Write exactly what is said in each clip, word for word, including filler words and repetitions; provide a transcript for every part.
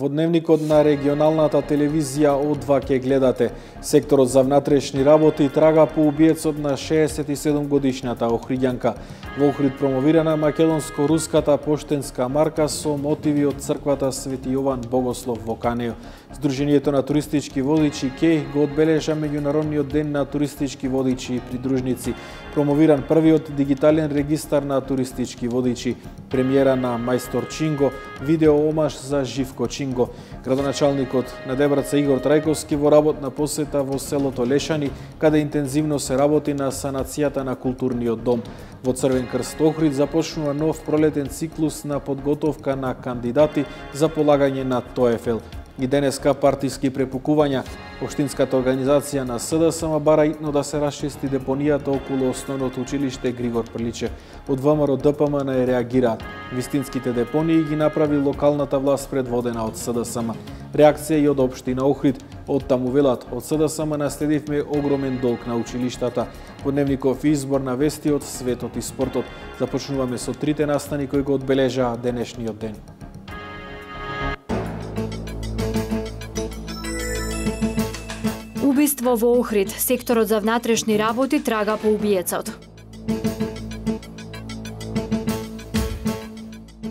Во дневникот на регионалната телевизија О два ке гледате. Секторот за внатрешни работи трага по убиецот на шеесет и седум годишната Охридјанка. Во Охрид промовирана македонско-руската поштенска марка со мотиви од црквата Свети Јован Богослов во Канео. Сдруженијето на туристички водичи КЕЙ го одбележа меѓународниот ден на туристички водичи и придружници. Промовиран првиот дигитален регистар на туристички водичи. Премиера на Мајстор Чинго, видео омаш за Живко Чинго. Градоначалникот на Дебраца Игор Трајковски во работна посета во селото Лешани, каде интензивно се работи на санацијата на културниот дом. Во Црвен крст Охрид започнува нов пролетен циклус на подготовка на кандидати за полагање на ТОЕФЛ. И денеска партиски препукувања. Општинската организација на СДСМ бара итно да се расчисти депонијата околу основното училиште Григор Приличев. Од ВМРО ДПМН не реагираат. Вистинските депонии ги направи локалната власт предводена од СДСМ. Реакција и од општина Охрид. Од таму велат, од СДСМ наследивме огромен долг на училиштата. Во дневников избор на вести од светот и спортот. Започнуваме со трите настани кои го одбележаа денешниот ден. Убиство во Охрид. Секторот за внатрешни работи трага по убиецот.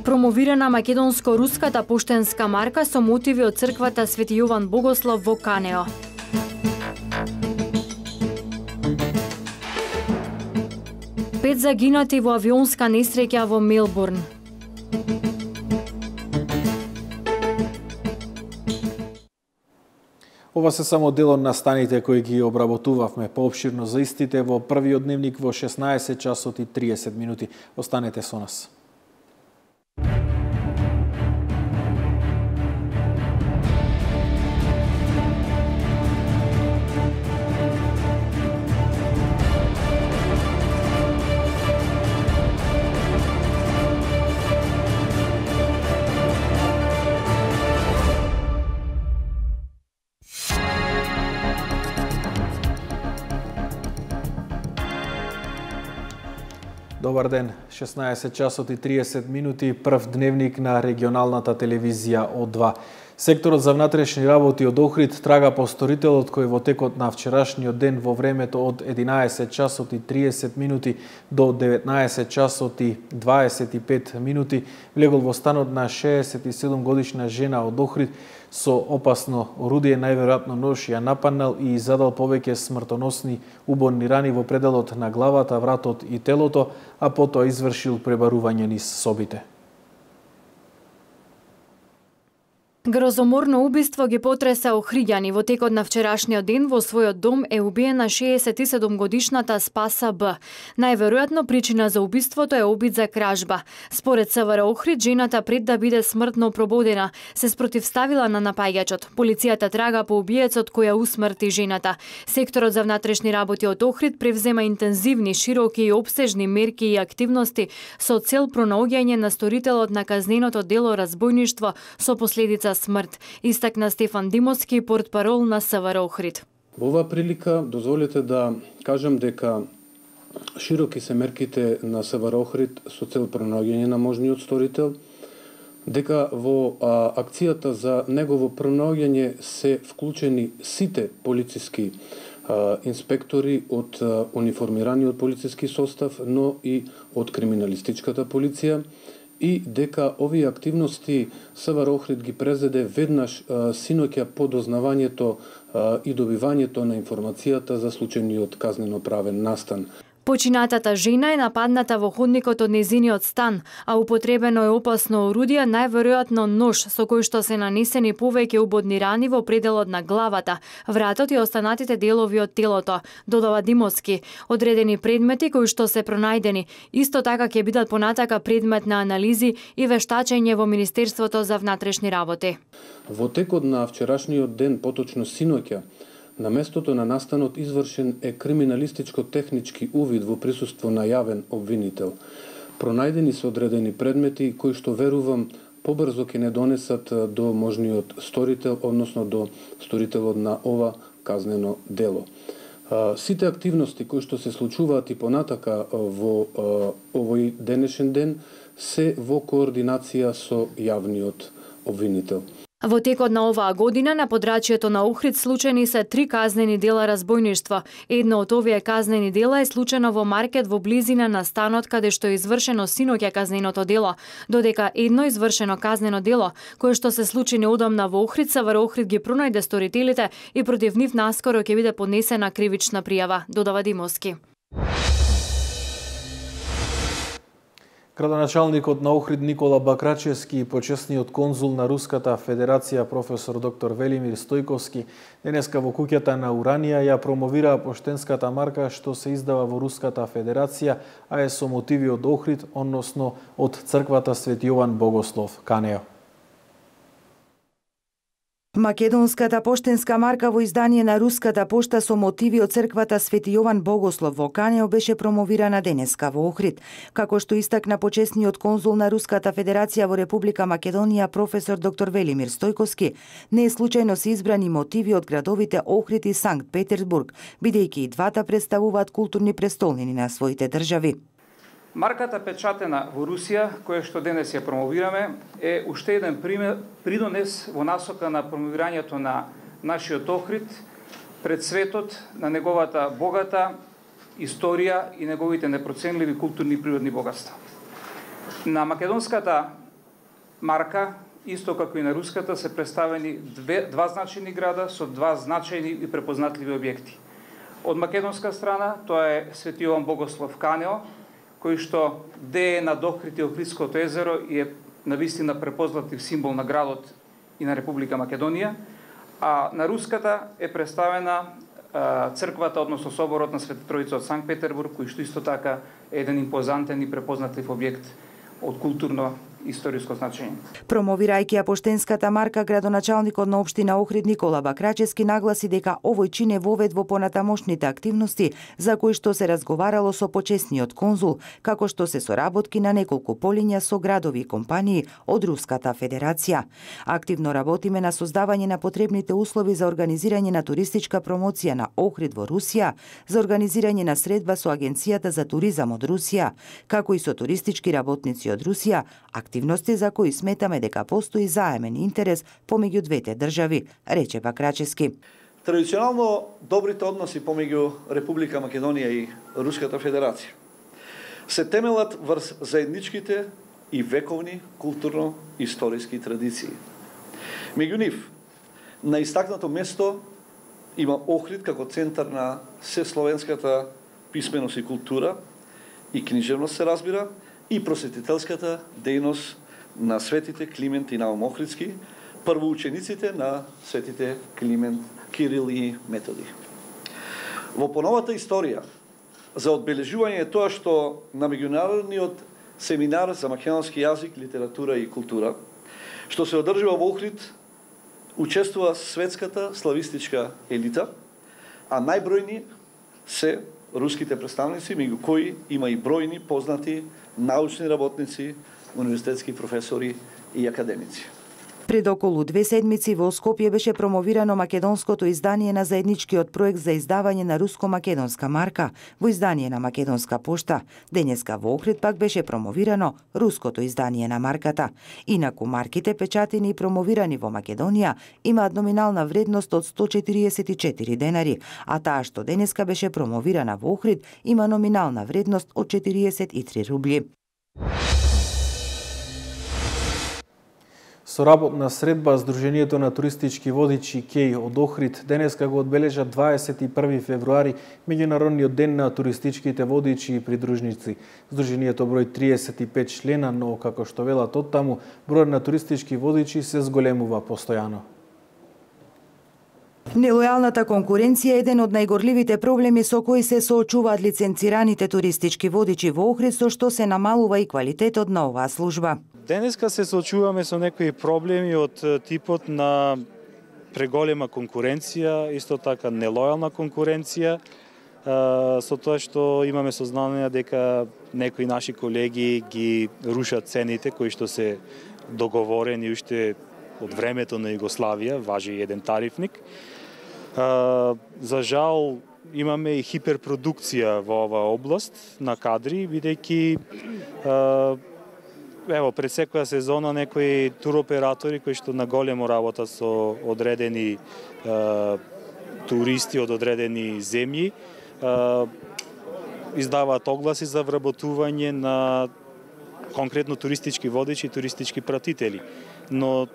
Промовирана македонско-руската поштенска марка со мотиви од црквата Свети Јован Богослов во Канео. Пет загинати во авионска несреќа во Мелбурн. Ова се само дел од настаните кои ги обработувавме. Поопширно за истите во првиот дневник во шеснаесет часот и триесет минути. Останете со нас. Добар ден, шеснаесет часот и триесет минути, прв дневник на регионалната телевизија О два. Секторот за внатрешни работи од Охрид трага по сторителот кој во текот на вчерашниот ден во времето од единаесет часот и триесет минути до деветнаесет часот и дваесет и пет минути влегол во станот на шеесет и седум годишна жена од Охрид со опасно орудие, најверојатно нож, ја нападнал и задал повеќе смртоносни убойни рани во пределот на главата, вратот и телото, а потоа извршил пребарување низ собите. Грозоморно убиство ги потреса Охриѓани. Во текот на вчерашниот ден во својот дом е убиена шеесет и седум годишната Спаса Б. Најверојатно причина за убиството е обид за кражба. Според СВР Охрид, жената пред да биде смртно прободена, се спротивставила на напаѓачот. Полицијата трага по убиецот кој ја усмрти жената. Секторот за внатрешни работи од Охрид превзема интензивни, широки и обсежни мерки и активности со цел пронаоѓање на сторителот на казненото дело разбойништво со последица смрт, истакна Стефан Димовски, портпарол на СВР Охрид. Во оваа прилика дозволете да кажам дека широки се мерките на СВР Охрид со цел пронаоѓање на можниот сторител, дека во а, акцијата за негово пронаоѓање се вклучени сите полициски а, инспектори од а, униформираниот полициски состав, но и од криминалистичката полиција, и дека овие активности СВР Охрид ги презеде веднаш а, синоќа по дознавањето а, и добивањето на информацијата за случајниот казнено-правен настан. Починатата жена е нападната во ходникот од незиниот стан, а употребено е опасно орудие, најверојатно нож, со кој што се нанесени повеќе убодни рани во пределот на главата, вратот и останатите делови од телото, додава Димовски. Одредени предмети кои што се пронајдени, исто така ќе бидат понатака предмет на анализи и вештачење во Министерството за внатрешни работи. Во текот на вчерашниот ден, поточно синоќа, на местото на настанот извршен е криминалистичко-технички увид во присуство на јавен обвинител. Пронајдени се одредени предмети кои што верувам побрзо ќе не донесат до можниот сторител, односно до сторителот на ова казнено дело. Сите активности кои што се случуваат и понатака во овој денешен ден се во координација со јавниот обвинител. Во текот на оваа година на подрачјето на Охрид случајни се три казнени дела разбойништво. Едно од овие казнени дела е случено во маркет во близина на станот каде што е извршено синоќа казненото дело, додека едно извршено казнено дело, кое што се случи неодамна во Охрид, СВР Охрид ги пронајде сторителите и против нив наскоро ќе биде поднесена кривична пријава, додава Димовски. Градоначалникот на Охрид Никола Бакрачевски и почесниот конзул на Руската Федерација професор доктор Велимир Стојковски денеска во куќата на Уранија ја промовираа поштенската марка што се издава во Руската Федерација, а е со мотиви од Охрид, односно од црквата Свети Јован Богослов, Канео. Македонската поштенска марка во издание на Руската пошта со мотиви од црквата Свети Јован Богослов во Канео беше промовирана денеска во Охрид. Како што истакна почесниот конзул на Руската Федерација во Република Македонија професор доктор Велимир Стојковски, не е случајно се избрани мотиви од градовите Охрид и Санкт Петербург, бидејќи и двата представуваат културни престолнини на своите држави. Марката печатена во Русија, која што денес ја промовираме, е уште еден пример, придонес во насока на промовирањето на нашиот Охрид пред светот, на неговата богата историја и неговите непроценливи културни и природни богатства. На македонската марка, исто како и на руската, се представени две, два значајни града со два значајни и препознатливи објекти. Од македонска страна, тоа е Свети Јован Богослов Канео, кој што дее над Охрид и Охридското езеро и е навистина препознатлив символ на градот и на Република Македонија, а на руската е представена а, црквата, односно соборот на Света Тројица од Санкт Петербург, кој што исто така е еден импозантен и препознатлив објект од културно историско значење. Промовирајќи ја поштенската марка, градоначалникот на општина Охрид Никола Бакрачевски нагласи дека овој чин е вовед во понатамошните активности за кои што се разговарало со почесниот конзул, како што се соработки на неколку полиња со градови и компании од Руската Федерација. Активно работиме на создавање на потребните услови за организирање на туристичка промоција на Охрид во Русија, за организирање на средба со Агенцијата за туризам од Русија, како и со туристички работници од Русија, активности за кои сметаме дека постои заемен интерес помеѓу двете држави, рече Бакрачевски. Традиционално добрите односи помеѓу Република Македонија и Руската Федерација се темелат врз заедничките и вековни културно-историски традиции. Меѓу нив, на истакнато место има Охрид како центар на сесловенската писменост и култура и книжевност се разбира, и просветителската дејност на светите Климент и Наум Охридски, првоучениците на светите Климент, Кирил и Методи. Во поновата историја, за одбележување тоа што на меѓународниот семинар за македонски јазик, литература и култура, што се одржува во Охрид, учествува светската славистичка елита, а најбројни се руските представници, меѓу кои има и бројни познати научни работници, универзитетски професори и академици. Пред околу две седмици во Скопје беше промовирано македонското издание на заедничкиот проект за издавање на руско-македонска марка во издание на Македонска пошта. Денеска во Охрид пак беше промовирано руското издание на марката. Инаку марките печатени и промовирани во Македонија имаат номинална вредност од сто четириесет и четири денари, а таа што денеска беше промовирана во Охрид има номинална вредност од четириесет и три рубли. Со работна средба Сдруженијето на туристички водичи КЕј од Охрид денеска го одбележа дваесет и први февруари, меѓународниот ден на туристичките водичи и придружници. Сдруженијето број триесет и пет члена, но како што велат оттаму, бројот на туристички водичи се зголемува постојано. Нелојалната конкуренција е еден од најгорливите проблеми со кои се соочуваат лиценцираните туристички водичи во Охрид, со што се намалува и квалитетот на оваа служба. Денеска се соочуваме со некои проблеми од типот на преголема конкуренција, исто така нелојална конкуренција, со тоа што имаме сознание дека некои наши колеги ги рушат цените кои што се договорени уште од времето на Југославија, важи еден тарифник. За жал, имаме и хиперпродукција во оваа област на кадри, бидејќи ево пред секоја сезона некои туроператори кои што на големо работа со одредени е, туристи од одредени земји е, издаваат огласи за вработување на конкретно туристички водичи и туристички пратители. Но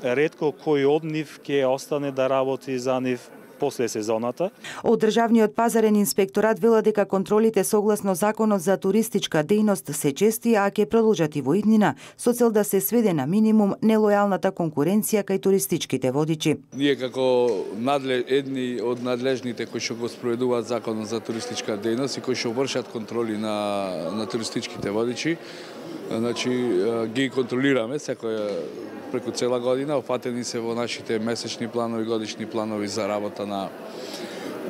ретко кој од нив ќе остане да работи за нив после сезоната. Од Државниот пазарен инспекторат вела дека контролите согласно Законот за туристичка дејност се чести, а ќе продолжат и во иднина, со цел да се сведе на минимум нелојалната конкуренција кај туристичките водичи. Ние како надлеж, едни од надлежните кои што го спроведуваат Законот за туристичка дејност и кои што вршат контроли на, на туристичките водичи, значи ги контролираме секоја преку цела година, опфатени се во нашите месечни планови, годишни планови за работа на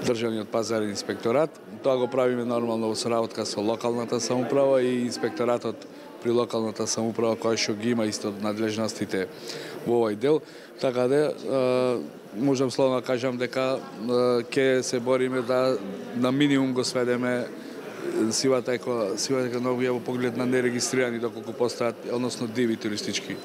Државниот пазарен инспекторат. Тоа го правиме нормално во соработка со локалната самоуправа и инспекторатот при локалната самоуправа која што ги има исто надлежностите во овој дел. Така да можам словно да кажам дека ќе се бориме да на минимум го сведеме сивата еко сивата економија во поглед на нерегистрирани доколку постојат, односно диви туристички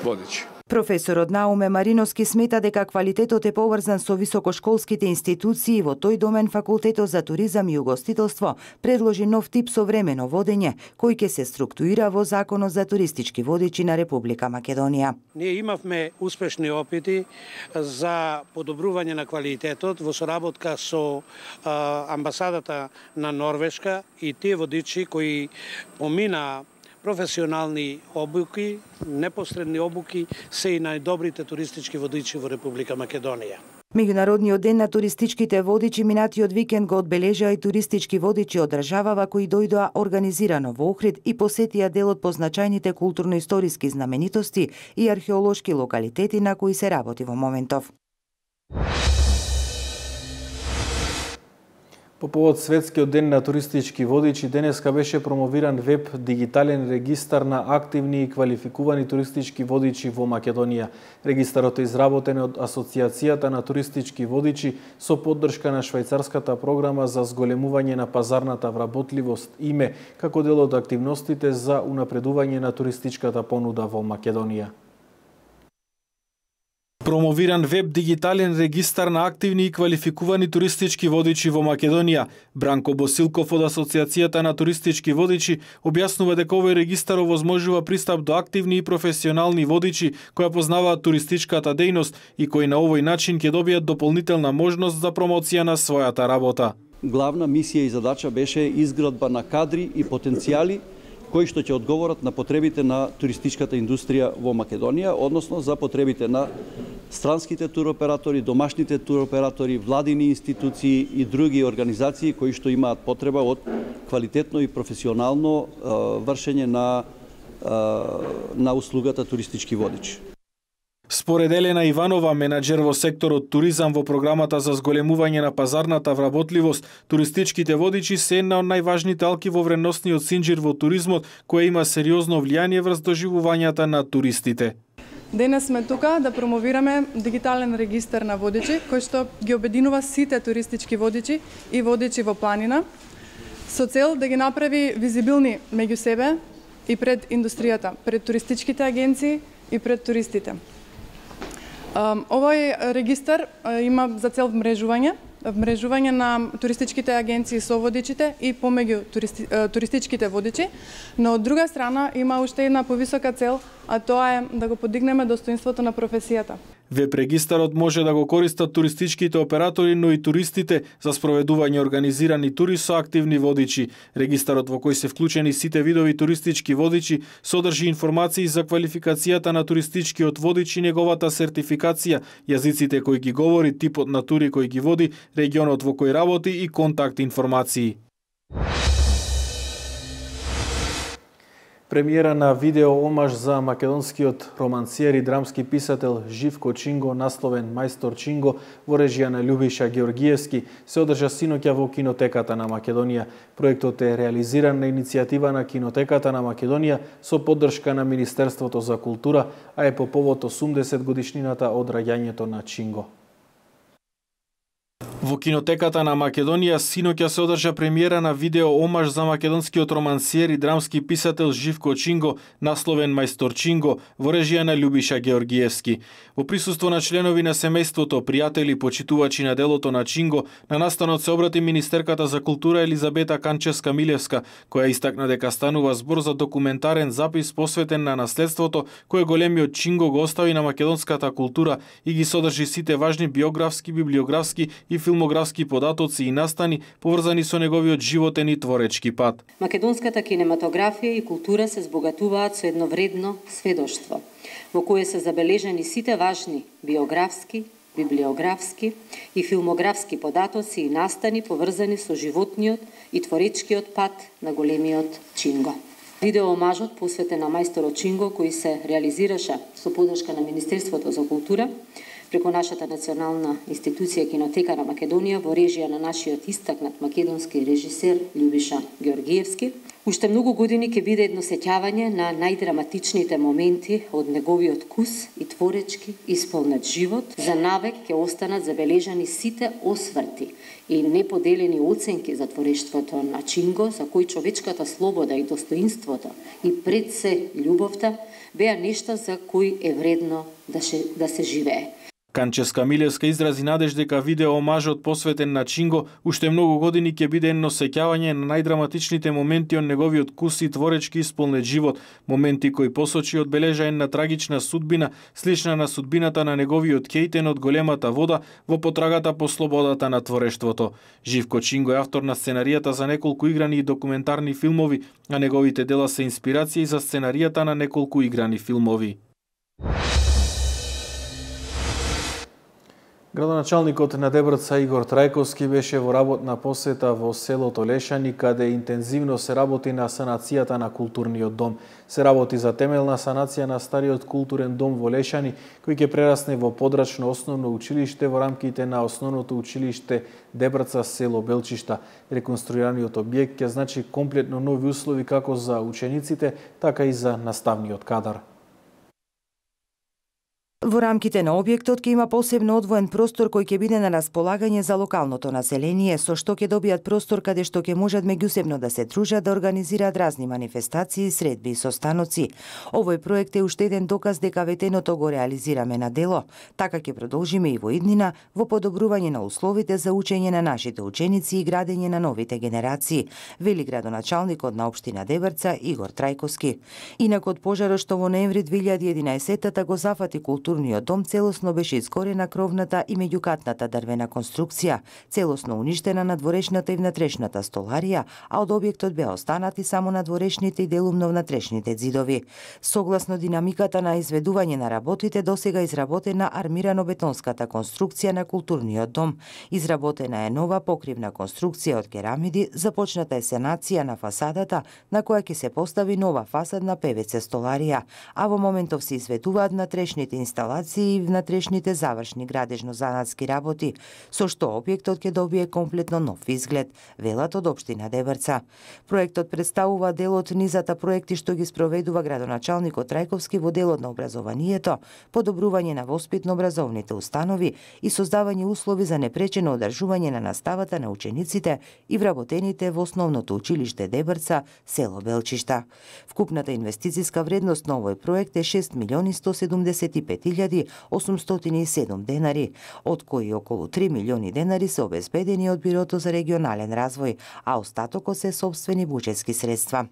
водичи. Професорот Науме Мариновски смета дека квалитетот е поврзан со високошколските институции. Во тој домен Факултетот за туризам и угостителство предложи нов тип современо водење, кој ќе се структуира во Законот за туристички водичи на Република Македонија. Ние имавме успешни опити за подобрување на квалитетот во соработка со а, амбасадата на Норвешка и тие водичи кои помина професионални обуки, непосредни обуки, се и најдобрите туристички водичи во Република Македонија. Меѓународниот ден на туристичките водичи минатиот викенд го одбележаа и туристички водичи од државава кои дојдоа организирано во Охрид и посетија дел од позначајните културно-историски знаменитости и археолошки локалитети на кои се работи во моментов. По повод Светскиот ден на туристички водичи, денеска беше промовиран веб дигитален регистар на активни и квалификувани туристички водичи во Македонија. Регистарот е изработен од Асоциацијата на туристички водичи со поддршка на швајцарската програма за зголемување на пазарната вработливост ИМЕ, како дел од активностите за унапредување на туристичката понуда во Македонија. Промовиран веб дигитален регистар на активни и квалификувани туристички водичи во Македонија. Бранко Босилков од Асоциацијата на туристички водичи објаснува дека овој регистар овозможува пристап до активни и професионални водичи кои познаваат туристичката дејност и кои на овој начин ќе добијат дополнителна можност за промоција на својата работа. Главна мисија и задача беше изградба на кадри и потенцијали кои што ќе одговорат на потребите на туристичката индустрија во Македонија, односно за потребите на странските туроператори, домашните туроператори, владини институции и други организации кои што имаат потреба од квалитетно и професионално е, вршење на, е, на услугата туристички водичи. Според Елена Иванова, менаџер во секторот туризам во програмата за зголемување на пазарната вработливост, туристичките водичи се една од најважните алки во вредносниот синџир во туризмот, која има сериозно влијание врз доживувањата на туристите. Денес сме тука да промовираме дигитален регистар на водичи, кој што ги обединува сите туристички водичи и водичи во планина, со цел да ги направи визибилни меѓу себе и пред индустријата, пред туристичките агенции и пред туристите. Овој регистар има за цел вмрежување, вмрежување на туристичките агенции со водичите и помеѓу туристи, туристичките водичи, но од друга страна има уште една повисока цел, а тоа е да го подигнеме достоинството на професијата. Веб регистарот може да го користат туристичките оператори, но и туристите за спроведување организирани тури со активни водичи. Регистарот во кој се вклучени сите видови туристички водичи содржи информации за квалификацијата на туристичкиот водич и неговата сертификација, јазиците кои ги говори, типот на тури кои ги води, регионот во кој работи и контакт информации. Премиера на видео омаж за македонскиот романсиер и драмски писател Живко Чинго, насловен Мајстор Чинго, во режија на Љубиша Георгиевски, се одржа синоќа во Кинотеката на Македонија. Проектот е реализиран на иницијатива на Кинотеката на Македонија со поддршка на Министерството за култура, а е по повод осумдесет годишнината од раѓањето на Чинго. Во кинотеката на Македонија синоќа се одржа премиера на видео омаж за македонскиот романсиер и драмски писател Живко Чинго, насловен Мајстор Чинго, во режија на Љубиша Георгиевски. Во присуство на членови на семејството, пријатели, почитувачи на делото на Чинго, на настанот се обрати министерката за култура Елизабета Канчевска-Милевска, која истакна дека станува збор за документарен запис посветен на наследството кое големиот Чинго го остави на македонската култура и ги содржи сите важни биографски, библиографски и филмографски податоци и настани поврзани со неговиот животен и творечки пат. Македонската кинематографија и култура се збогатуваат со едно вредно сведоштво, во кое се забележани сите важни биографски, библиографски и филмографски податоци и настани поврзани со животниот и творечкиот пат на големиот Чинго. Видео омажот посветен на мајсторот Чинго, кој се реализираше со подршка на Министерството за култура, преку нашата национална институција Кинотека на Македонија во режија на нашиот истакнат македонски режисер Љубиша Георгиевски, уште многу години ќе биде едно сеќавање на најдраматичните моменти од неговиот кус и творечки исполнет живот. За навек ќе останат забележани сите осврти и неподелени оценки за творештвото на Чинго, за кој човечката слобода и достоинството и пред се љубовта беа нешта за кои е вредно да, ше, да се живее. Канчевска-Милевска изрази надеж дека видео омажот посветен на Чинго уште многу години ќе биде едно сеќавање на најдраматичните моменти од неговиот кус и творечки исполнет живот, моменти кои посочи одбележа една трагична судбина, слична на судбината на неговиот Кејтен од големата вода во потрагата по слободата на творештвото. Живко Чинго е автор на сценаријата за неколку играни и документарни филмови, а неговите дела се инспирации за сценаријата на неколку играни филмови. Градоначалникот на Дебрца Игор Трајковски беше во работна посета во селото Лешани, каде интензивно се работи на санацијата на културниот дом. Се работи за темелна санација на стариот културен дом во Лешани, кој ќе прерасне во подрачно основно училиште во рамките на основното училиште Дебрца село Белчишта. Реконструираниот објект ќе значи комплетно нови услови како за учениците, така и за наставниот кадар. Во рамките на објектот ќе има посебно одвоен простор кој ќе биде на располагање за локалното население, со што ќе добијат простор каде што ќе можат меѓусебно да се дружат, да организираат разни манифестации, средби и состаноци. Овој проект е уште еден доказ дека ветеното го реализираме на дело. Така ќе продолжиме и во иднина во подобрување на условите за учење на нашите ученици и градење на новите генерации, вели градоначалникот на општина Дебрца Игор Трајковски. Инак од пожарот што во ноември две илјади и единаесетта го зафати културниот дом, целосно беше искорена кровната и меѓукатната дрвена конструкција, целосно уништена надворешната и внатрешната столарија, а од објектот беа останати само надворешните и делумно внатрешните ѕидови. Согласно динамиката на изведување на работите, досега изработена армирано-бетонската конструкција на културниот дом. Изработена е нова покривна конструкција од керамиди, започната е санација на фасадата, на која ќе се постави нова фасадна пе ве це столарија, а во моментов се изведуваат внатрешните инсталации и внатрешните завршни градежно-занатски работи, со што објектот ќе добие комплетно нов изглед, велат од општина Дебрца. Проектот представува дел од низата проекти што ги спроведува градоначалникот Трајковски во делот на образованието, подобрување на воспитно-образовните установи и создавање услови за непречено одржување на наставата на учениците и вработените во основното училиште Дебрца, село Белчишта. Вкупната инвестициска вредност на овој проект е шест милиони сто седумдесет и пет илјади осумстотини и седум денари, од кои околу три милиони денари се обезбедени од Бирото за регионален развој, а остатокот се сопствени буџетски средства.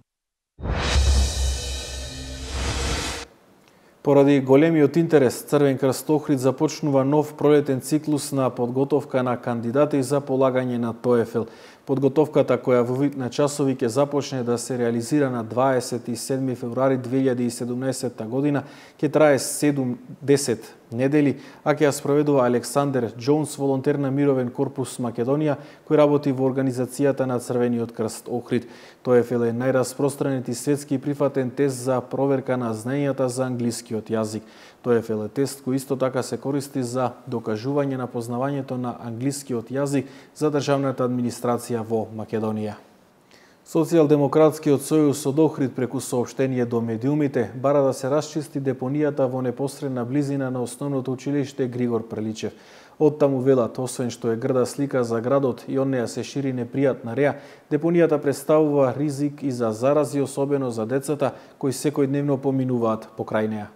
Поради големиот интерес, Црвен крст Охрид започнува нов пролетен циклус на подготовка на кандидати за полагање на ТОЕФЛ. Подготовката, која во вид на часови ќе започне да се реализира на дваесет и седми февруари две илјади и седумнаесетта година, ќе трае седум-десет недели, а ќе ја спроведува Александер Џонс, волонтер на Мировен корпус Македонија, кој работи во организацијата на Црвениот крст Охрид. ТОЕФЛ е најраспространет и светски прифатен тест за проверка на знаењата за англискиот јазик. ТОЕФЛ е тест кој исто така се користи за докажување на познавањето на англискиот јазик за државната администрација во Македонија. Социјалдемократскиот сојуз од Охрид преку соопштение до медиумите бара да се расчисти депонијата во непосредна близина на основното училиште Григор Преличев. Оттаму велат, освен што е грда слика за градот и од неја се шири непријатна реа, депонијата представува ризик и за зарази, особено за децата кои секојдневно поминуваат покрај неја.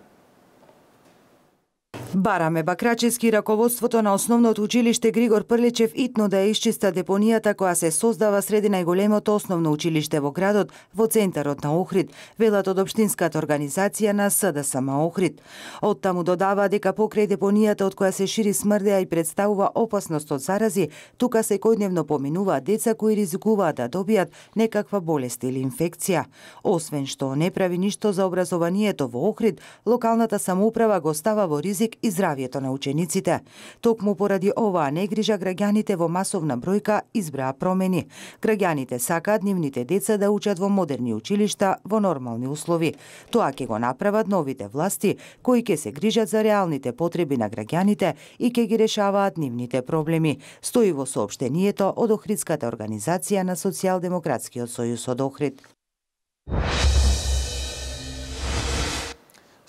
Бараме Бакрачевски раководството на основното училиште Григор Прличев итно да ја исчиста депонијата која се создава среди најголемото основно училиште во градот, во центарот на Охрид, велат од општинската организација на СДСМ Охрид. Оттаму додава дека покрај депонијата од која се шири смрдеа и представува опасност од зарази, тука секојдневно поминуваат деца кои ризикуваат да добијат некаква болест или инфекција. Освен што не прави ништо за образованието во Охрид, локалната самоуправа го става во ризик и здравието на учениците. Токму поради оваа негрижа граѓаните во масовна бројка избраа промени. Граѓаните сакаат нивните деца да учат во модерни училишта во нормални услови. Тоа ќе го направат новите власти, кои ќе се грижат за реалните потреби на граѓаните и ќе ги решаваат нивните проблеми. Стои во соопштението од Охридската организација на Социјалдемократскиот сојуз од Охрид.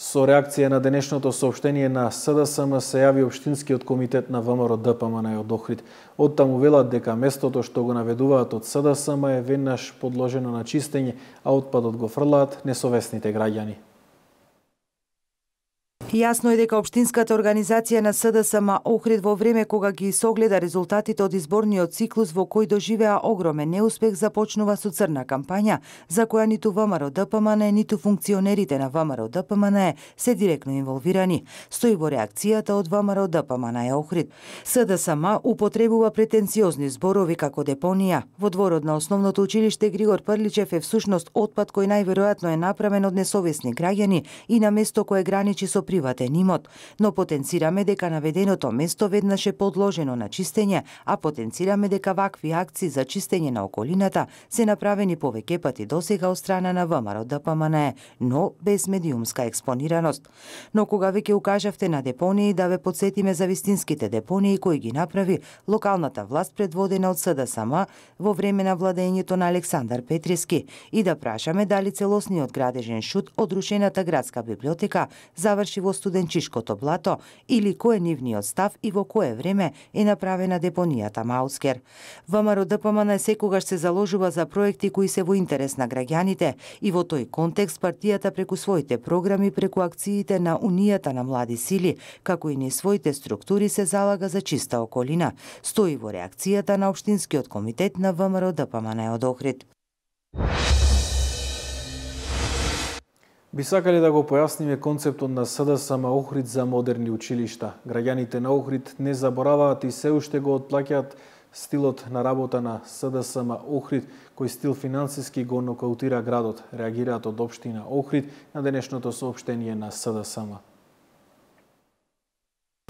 Со реакција на денешното соопштение на СДСМ се јави Општинскиот комитет на ВМРО Д П М Н од Охрид. Оттаму велат дека местото што го наведуваат од СДСМ е веднаш подложено на чистење, а отпадот го фрлаат несовесните граѓани. Јасно е дека Општинската организација на СДСМ Охрид во време кога ги согледа резултатите од изборниот циклус во кој доживеа огромен неуспех, започнува со црна кампања, за која ниту ВМРО Д П М Н, ниту функционерите на ВМРО Д П М Н се директно инволвирани. Стои во реакцијата од ВМРО Д П М Н Охрид. СДСМ употребува претенциозни зборови како депонија. Во дворот на основното училиште Григор Прличев е всушност отпад кој најверојатно е направен од несовесни граѓани и на место кое граничи со приватен имот, но потенцираме дека наведеното место веднаш е подложено на чистење, а потенцираме дека вакви акции за чистење на околината се направени повеќе пати досега од страна на ВМРО Д П М Н, но без медиумска експонираност. Но кога веќе укажавте на депонии, да ве подсетиме за вистинските депонии кои ги направи локалната власт предводена од СДСМ во време на владењето на Александар Петриски и да прашаме дали целосниот градежен шут од рушената градска библиотека заврши во студенчишкото блато или кој е нивниот став и во кое време е направена депонијата Маускер. ВМРО Д П М Н секогаш се заложува за проекти кои се во интерес на граѓаните и во тој контекст партијата преку своите програми, преку акциите на Унијата на млади сили, како и низ своите структури се залага за чиста околина. Стои во реакцијата на Општинскиот комитет на ВМРО Д П М Н од Охрид. Би сакале да го појасниме концептот на СДСМ Охрид за модерни училишта. Граѓаните на Охрид не забораваат и се уште го отплаќаат стилот на работа на СДСМ Охрид, кој стил финансиски го нокаутира градот, реагираат од општина Охрид на денешното соопштение на СДСМ.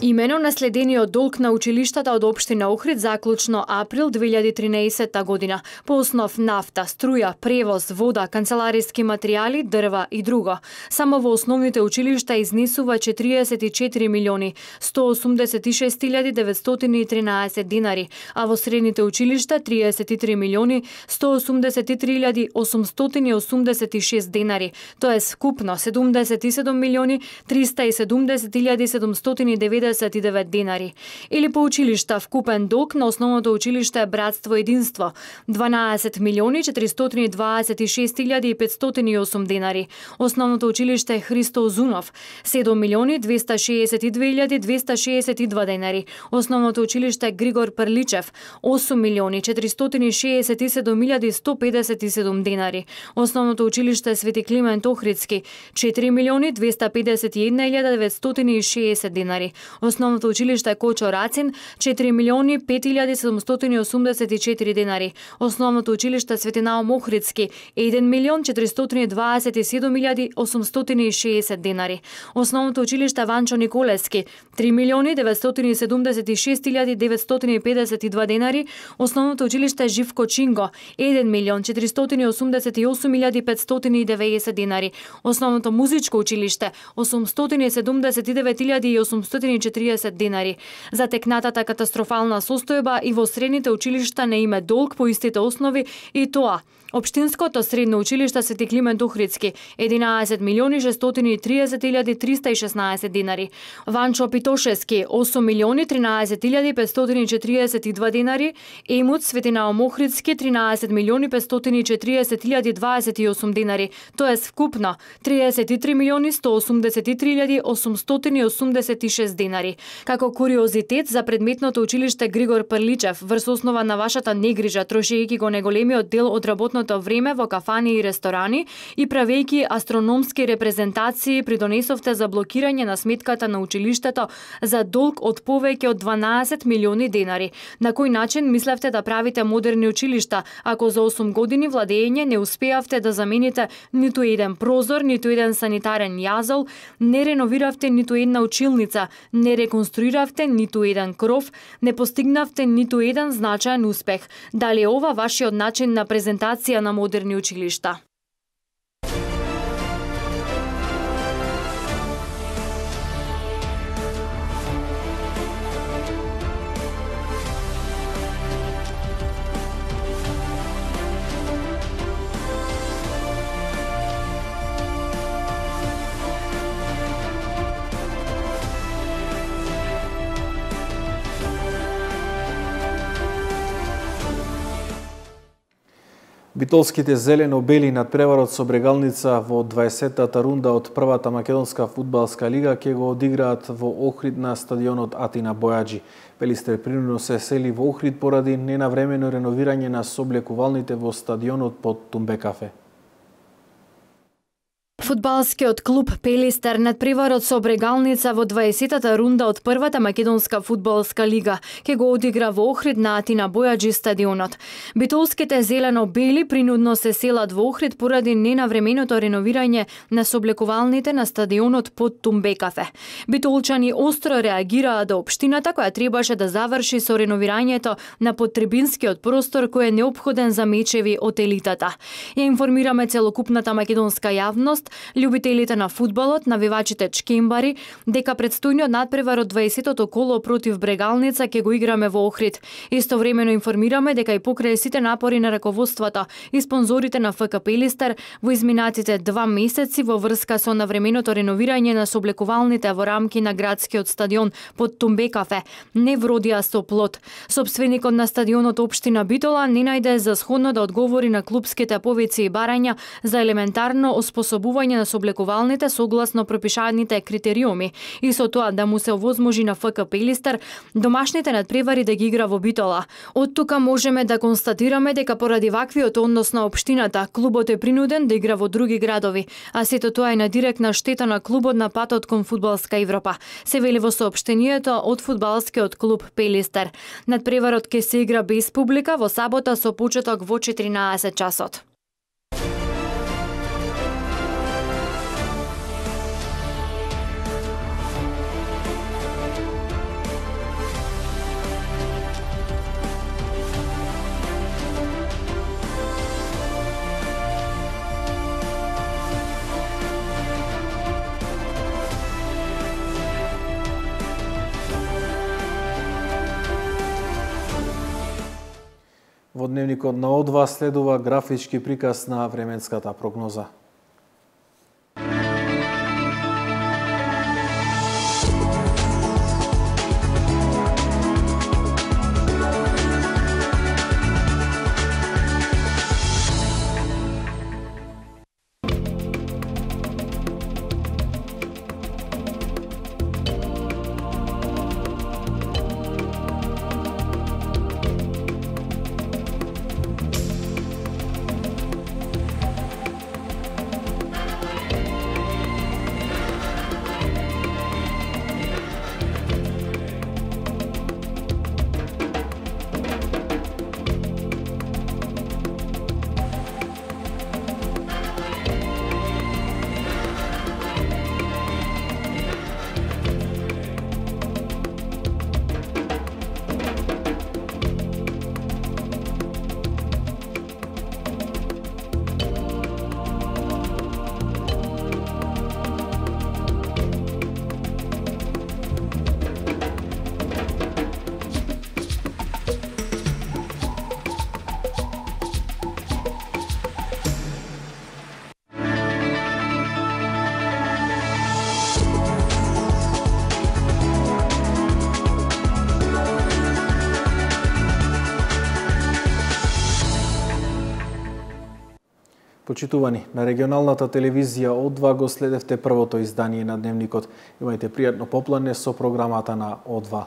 Имено наследениот долг на училиштата од општина Охрид заклучно април две илјади и тринаесетта година по основ нафта, струја, превоз, вода, канцелариски материјали, дрва и друго. Само во основните училишта изнесува четириесет и четири милиони сто осумдесет и шест илјади деветстотини и тринаесет динари, а во средните училишта триесет и три милиони сто осумдесет и три илјади осумстотини и осумдесет и шест динари, тоа е скупно седумдесет и седум милиони триста и седумдесет илјади седумстотини и деветдесет и девет динари. Или по училишта вкупен долг на основното училиште Братство Единство дванаесет милиони четиристотини и дваесет и шест илјади и петстотини и осум динари. Основното училиште Христо Озунов седум милиони двеста шеесет и две илјади двеста шеесет и два динари. Основното училиште Григор Прличев осум милиони четиристотини и шеесет и седум илјади сто педесет и седум динари. Основното училиште Свети Климент Охридски четири милиони двеста педесет и една илјада деветстотини и шеесет динари. Основното училиште Кочо Рацин четири милиони пет илјади седумстотини и осумдесет и четири динари. Основното училиште Свети Наум Охридски еден милион четиристотини и дваесет и седум илјади осумстотини и шеесет динари. Основното училиште Ванчо Николевски три милиони деветстотини и седумдесет и шест илјади деветстотини и педесет и два динари. Основното училиште Живко Чинго еден милион четиристотини и осумдесет и осум илјади петстотини и деветдесет динари. Основното музичко училиште осумстотини и седумдесет и девет илјади и осумстотини и четириесет динари. За текнатата катастрофална состојба и во средните училишта не има долг по истите основи и тоа Општинското средно училиште Свети Климент Охридски единаесет милиони шестстотини и триесет илјади триста и шеснаесет динари, Ванчо Питошевски осум милиони тринаесет илјади петстотини и четириесет и два динари, Емут Свети Наум Охридски тринаесет милиони петстотини и четириесет илјади дваесет и осум динари, тоест вкупно триесет и три милиони сто осумдесет и три илјади осумстотини и осумдесет и шест динари. Како куриозитет за предметното училиште Григор Прличев, врз основа на вашата негрижа, трошејќи го неголемиот дел од работното време во кафани и ресторани и правејќи астрономски репрезентации, придонесовте за блокирање на сметката на училиштето за долг од повеќе од дванаесет милиони денари. На кој начин мислевте да правите модерни училишта, ако за осум години владење не успеавте да замените ниту еден прозор, ниту еден санитарен јазол, не реновиравте ниту една училница, не реконструиравте ниту еден кров, не постигнавте ниту еден значаен успех. Дали е ова вашиот начин на презентација на модерни училишта? Битолските зелено-бели надпреварот со Брегалница во дваесеттата рунда од првата македонска фудбалска лига ќе го одиграат во Охрид на стадионот Атина Бојаджи. Пелистер принудно се сели во Охрид поради ненавремено реновирање на соблекувалните во стадионот под Тумбекафе. Фудбалскиот клуб Пелистер надпреварот со Брегалница во дваесеттата рунда од првата македонска фудбалска лига ќе го одигра во Охрид на Атина Бојаджи стадионот. Битолските зелено-бели принудно се селат во Охрид поради ненавременото реновирање на соблекувалните на стадионот под Тумбекафе. Битолчани остро реагираа до општината која требаше да заврши со реновирањето на поттрибинскиот простор кој е неопходен за мечеви од елитата. Ја информираме целокупната македонска јавност, љубителите на фудбалот, навивачите чкембари, дека предстојниот надпревар од дваесеттото коло против Брегалница ќе го играме во Охрид. Истовремено информираме дека и покрај сите напори на раководството и спонзорите на ФК Пелистер во изминатите два месеци во врска со навременото реновирање на соблекувалните во рамки на градскиот стадион под Тумбекафе не вродија со плод. Сопственикот на стадионот општина Битола не најде за сходно да одговори на клупските повици и барања за елементарно оспособување на соблекувалните согласно пропишаните критериуми и со тоа да му се овозможи на ФК Пелистер домашните надпревари да ги игра во Битола. Од тука можеме да констатираме дека поради ваквиот однос на општината, клубот е принуден да игра во други градови, а сето тоа е на директна штета на клубот на патот кон фудбалска Европа, се вели во соопштението од фудбалскиот клуб Пелистер. Надпреварот ќе се игра без публика во сабота со почеток во четиринаесет часот. Во дневникот на О два следува графички приказ на временската прогноза. почитувани, на регионалната телевизија О два го следевте првото издание на Дневникот. Имајте пријатно поплане со програмата на О два.